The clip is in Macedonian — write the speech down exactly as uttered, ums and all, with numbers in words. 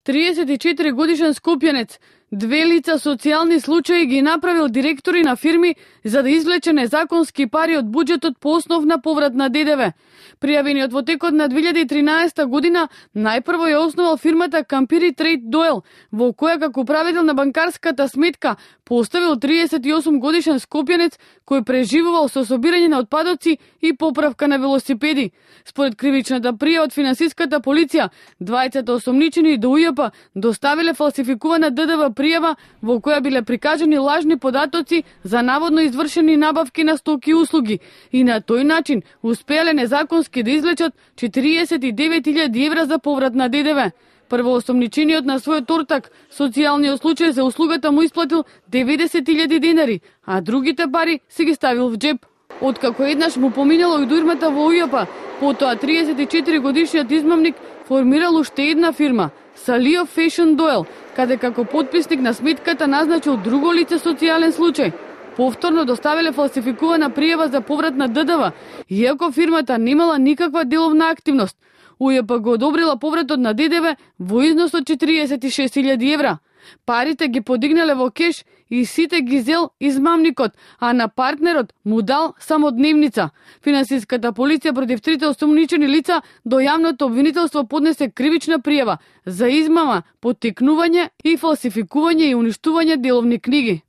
триесет и четири годишен скопјанец две лица социјални случаи ги направил директори на фирми за да извлече незаконски пари од буџетот по основ на поврат на ДДВ. Пријавениот во текот на две илјади и тринаесета година најпрво ја основал фирмата Кампири Трейд Доел, во која како управител на банкарската сметка поставил триесет и осум годишен скопјанец кој преживувал со собирање на отпадоци и поправка на велосипеди. Според кривичната пријава од финансиската полиција, двајцата осомничени до УЈП доставиле фалсификувана ДДВ пријава во која биле прикажани лажни податоци за наводно извршени набавки на стоки и услуги и на тој начин успеале незаконски да извлечат четириесет и девет илјади евра за поврат на ДДВ. Првоосомничениот на својот ортак социјалниот случај за услугата му исплатил деветдесет илјади денари, а другите пари си ги ставил в джеб. Откако еднаш му поминало и дујрмата во УЈП, потоа триесет и четири годишниот измамник формирал уште една фирма, Салио Фешн Доел, каде како потписник на сметката назначил друго лице социјален случај. Повторно доставиле фалсификувана пријава за поврат на ДДВ, иако фирмата немала никаква деловна активност. УЈП го одобрила повратот на ДДВ во износ од четириесет и шест илјади евра. Парите ги подигнале во кеш и сите ги зел измамникот, а на партнерот му дал само дневница. Финансиската полиција против трите осомничени лица до јавното обвинителство поднесе кривична пријава за измама, поттикнување и фалсификување и уништување деловни книги.